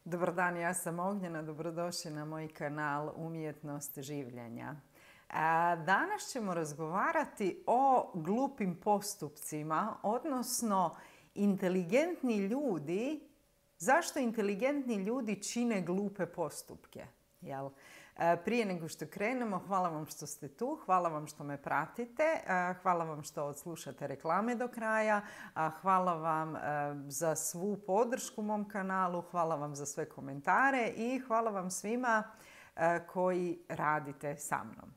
Dobar dan, ja sam Ognjena, dobrodošli na moj kanal Umjetnost življenja. Danas ćemo razgovarati o glupim postupcima, odnosno inteligentni ljudi, zašto inteligentni ljudi čine glupe postupke. Jel? Prije nego što krenemo, hvala vam što ste tu, hvala vam što me pratite, hvala vam što odslušate reklame do kraja, hvala vam za svu podršku mom kanalu, hvala vam za sve komentare i hvala vam svima koji radite sa mnom.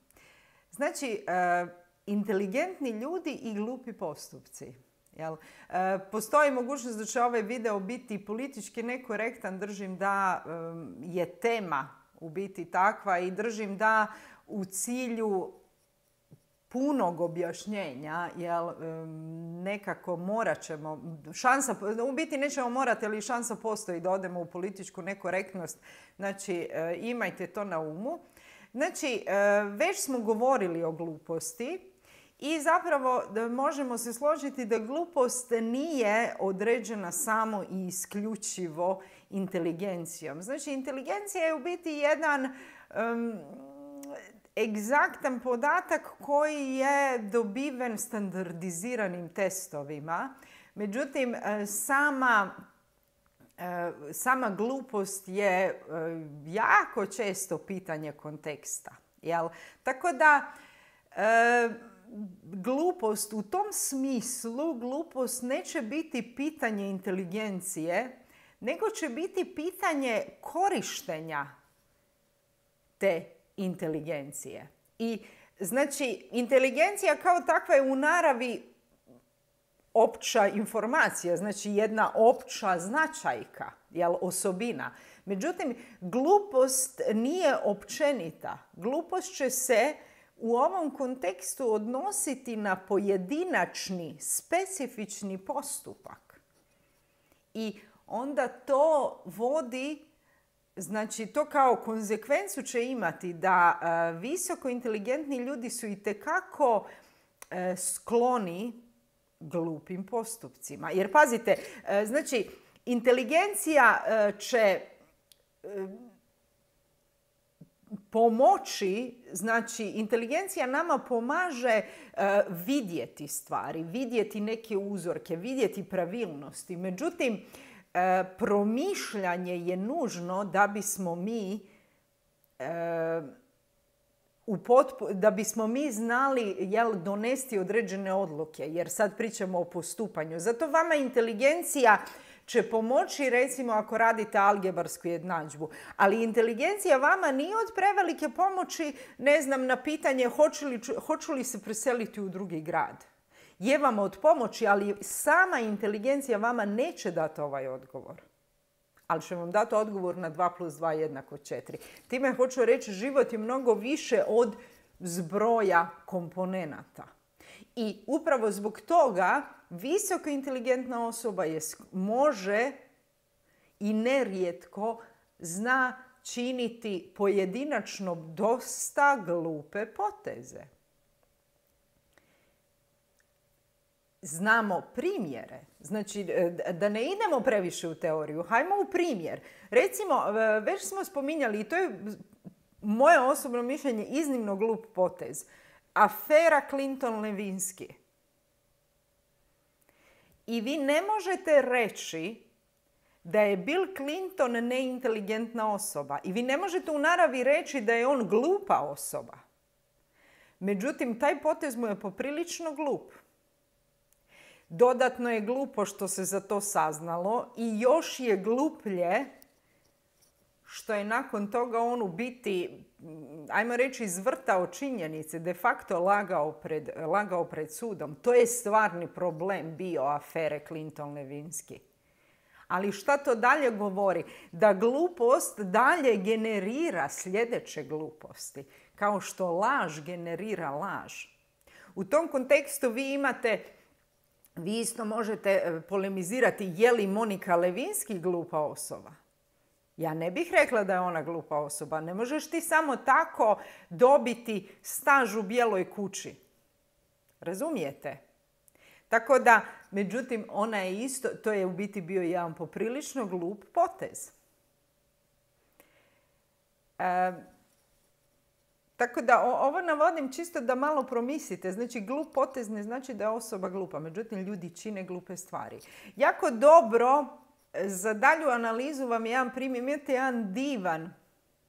Znači, inteligentni ljudi i glupi postupci. Jel? Postoji mogućnost da će ovaj video biti politički nekorektan, držim da je tema u biti takva i držim da u cilju punog objašnjenja, jel, nekako morat ćemo, u biti nećemo morati, ali šansa postoji da odemo u političku nekorektnost. Znači, imajte to na umu. Znači, već smo govorili o gluposti i zapravo možemo se složiti da glupost nije određena samo i isključivo inteligencijom. Znači, inteligencija je u biti jedan egzaktan podatak koji je dobiven standardiziranim testovima. Međutim, sama glupost je jako često pitanje konteksta. Jel? Tako da, glupost u tom smislu, glupost neće biti pitanje inteligencije, nego će biti pitanje korištenja te inteligencije. I znači, inteligencija kao takva je u naravi opća informacija, znači jedna opća značajka, jel, osobina. Međutim, glupost nije općenita. Glupost će se u ovom kontekstu odnositi na pojedinačni, specifični postupak. I onda to vodi, znači to kao konzekvencu će imati da visoko inteligentni ljudi su itekako skloni glupim postupcima. Jer pazite, znači inteligencija će pomoći, znači inteligencija nama pomaže vidjeti stvari, vidjeti neke uzorke, vidjeti pravilnosti. Međutim, promišljanje je nužno da bismo mi da bismo mi znali donesti određene odluke, jer sad pričamo o postupanju. Zato vama inteligencija će pomoći, recimo, ako radite algebarsku jednadžbu. Ali inteligencija vama nije od prevelike pomoći, ne znam, na pitanje hoću li se preseliti u drugi grad. Je vam od pomoći, ali sama inteligencija vama neće dati ovaj odgovor. Ali će vam dati odgovor na 2 + 2 = 4. Time hoću reći, život je mnogo više od zbroja komponenata. I upravo zbog toga visoko inteligentna osoba može i nerijetko zna činiti pojedinačno dosta glupe poteze. Znamo primjere. Znači, da ne idemo previše u teoriju, hajmo u primjer. Recimo, već smo spominjali, i to je moje osobno mišljenje, iznimno glup potez. Afera Clinton-Levinsky. I vi ne možete reći da je Bill Clinton neinteligentna osoba. I vi ne možete u naravi reći da je on glupa osoba. Međutim, taj potez mu je poprilično glup. Dodatno je glupo što se za to saznalo i još je gluplje što je nakon toga on u biti, ajmo reći, izvrtao činjenice, de facto lagao pred sudom. To je stvarni problem bio afere Clinton-Levinsky. Ali šta to dalje govori? Da glupost dalje generira sljedeće gluposti, kao što laž generira laž. U tom kontekstu vi isto možete polemizirati je li Monika Lewinsky glupa osoba. Ja ne bih rekla da je ona glupa osoba. Ne možeš ti samo tako dobiti staž u Bijeloj kući. Razumijete? Tako da, međutim, ona je isto, to je u biti bio jedan poprilično glup potez. Tako da ovo navodim čisto da malo promislite. Znači, glup potez ne znači da je osoba glupa. Međutim, ljudi čine glupe stvari. Jako dobro za dalju analizu vam je jedan primjer. Imate jedan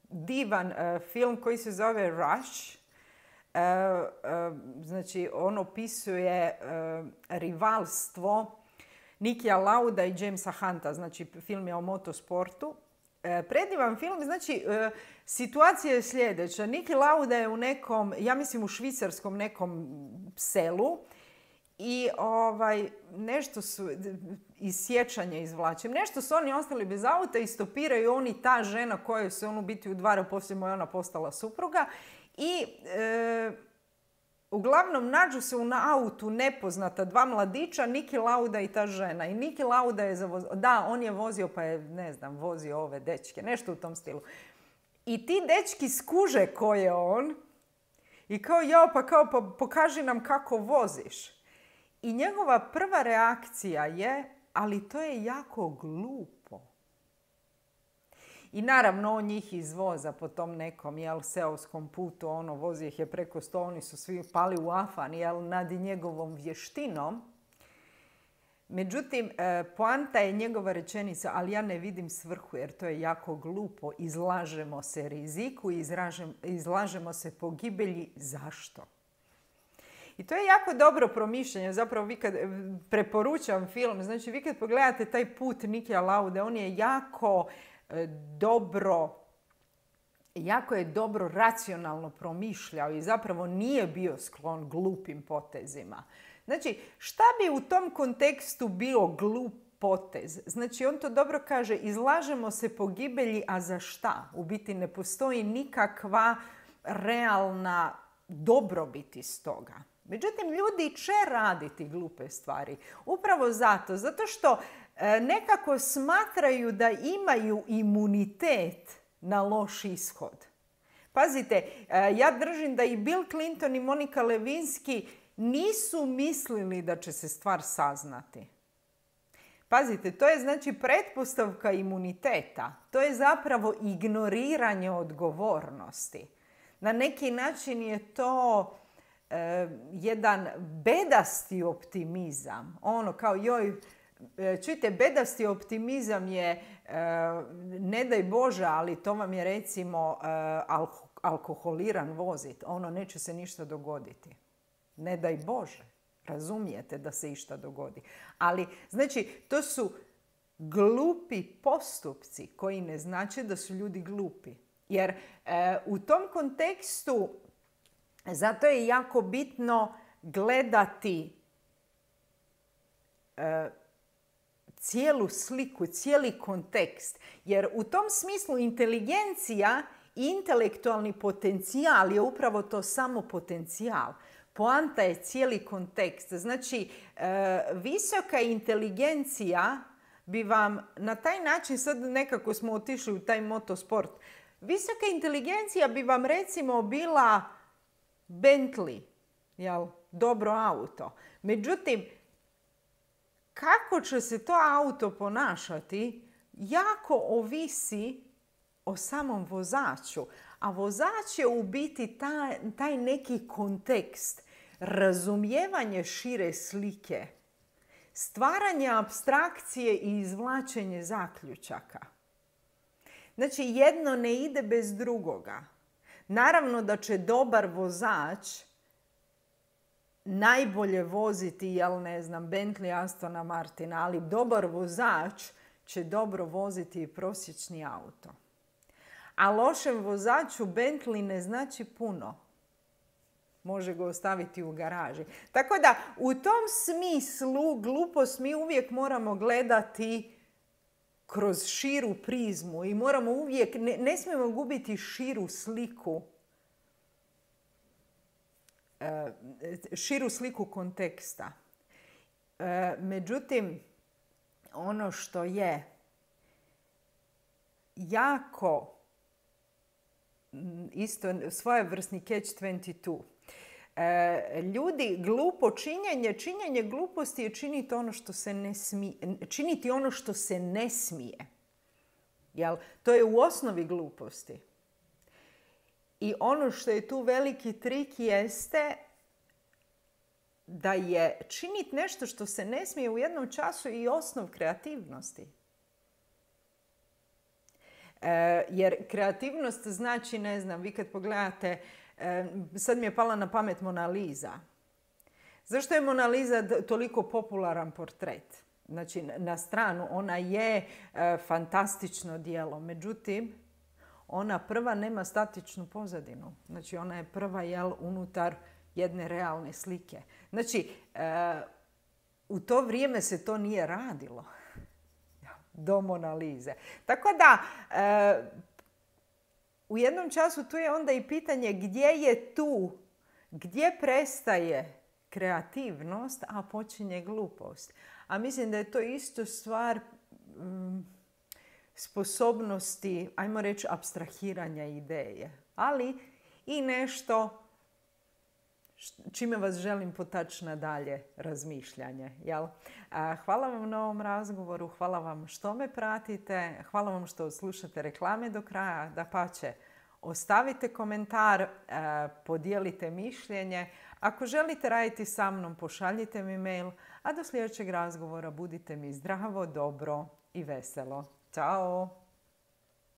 divan film koji se zove Rush. Znači, on opisuje rivalstvo Nikija Lauda i Jamesa Hunta. Znači, film je o motosportu. Predivan film, znači situacija je sljedeća. Niki Lauda je u nekom, ja mislim u švicarskom nekom selu i nešto su, iz sjećanja izvlačim, nešto su oni ostali bez auta i stopiraju oni, ta žena koja se on u biti udvara, poslije mu je ona postala supruga i uglavnom nađu se na autu nepoznata dva mladića, Niki Lauda i ta žena. I Niki Lauda je on je vozio, pa je, ne znam, vozio ove dečke, nešto u tom stilu. I ti dečki skuže ko je on i kao, pa pokaži nam kako voziš. I njegova prva reakcija je, ali to je jako glupo. I naravno on njih izvoza po tom nekom seoskom putu, vozi ih je preko 100, oni su svi pali u afan nad njegovom vještinom. Međutim, poanta je njegova rečenica, ali ja ne vidim svrhu jer to je jako glupo. Izlažemo se riziku, izlažemo se pogibelji. Zašto? I to je jako dobro promišljanje. Zapravo vi kad preporučam film, znači vi kad pogledate taj put Nikija Laude, on je jako je dobro racionalno promišljao i zapravo nije bio sklon glupim potezima. Znači, šta bi u tom kontekstu bio glup potez? Znači, on to dobro kaže, izlažemo se pogibelji, a za šta? U biti ne postoji nikakva realna dobrobit iz toga. Međutim, ljudi će raditi glupe stvari. Upravo zato što nekako smatraju da imaju imunitet na loš ishod. Pazite, ja držim da i Bill Clinton i Monika Lewinsky nisu mislili da će se stvar saznati. Pazite, to je znači pretpostavka imuniteta. To je zapravo ignoriranje odgovornosti. Na neki način je to jedan bedasti optimizam. Kao čujte, bedasti optimizam je, ne daj Bože, ali to vam je recimo alkoholiran vozit. Neće se ništa dogoditi. Ne daj Bože. Razumijete da se išta dogodi. Ali, znači, to su glupi postupci koji ne znače da su ljudi glupi. Jer u tom kontekstu zato je jako bitno gledati cijelu sliku, cijeli kontekst. Jer u tom smislu inteligencija i intelektualni potencijal je upravo to samo potencijal. Poanta je cijeli kontekst. Znači, visoka inteligencija bi vam na taj način, sad nekako smo otišli u taj motosport, visoka inteligencija bi vam recimo bila Bentley, dobro auto. Međutim, kako će se to auto ponašati, jako ovisi o samom vozaču. A vozač je u biti taj neki kontekst, razumijevanje šire slike, stvaranje apstrakcije i izvlačenje zaključaka. Znači, jedno ne ide bez drugoga. Naravno da će dobar vozač najbolje voziti, Bentley, Astona Martina, ali dobar vozač će dobro voziti i prosječni auto. A lošem vozaču Bentley ne znači puno. Može ga ostaviti u garaži. Tako da u tom smislu glupost mi uvijek moramo gledati kroz širu prizmu i moramo uvijek, ne smijemo gubiti širu sliku konteksta. Međutim, ono što je jako isto svojevrsni catch-22. Ljudi, činjenje gluposti je činiti ono što se ne smije. To je u osnovi gluposti. I ono što je tu veliki trik jeste da je činiti nešto što se ne smije u jednom času i osnov kreativnosti. Jer kreativnost znači, ne znam, vi kad pogledate, sad mi je pala na pamet Mona Lisa. Zašto je Mona Lisa toliko popularan portret? Znači, na stranu, ona je fantastično djelo, međutim, ona prva nema statičnu pozadinu. Znači, ona je prva, unutar jedne realne slike. Znači, u to vrijeme se to nije radilo. Do Mona Lise. Tako da, u jednom času tu je onda i pitanje gdje je tu, gdje prestaje kreativnost, a počinje glupost. A mislim da je to isto stvar sposobnosti, ajmo reći, apstrahiranja ideje. Ali i nešto čime vas želim potaći na dalje razmišljanje. Jel? Hvala vam na ovom razgovoru, hvala vam što me pratite, hvala vam što slušate reklame do kraja, dapače, ostavite komentar, podijelite mišljenje. Ako želite raditi sa mnom, pošaljite mi mail, a do sljedećeg razgovora budite mi zdravo, dobro i veselo. Ćao!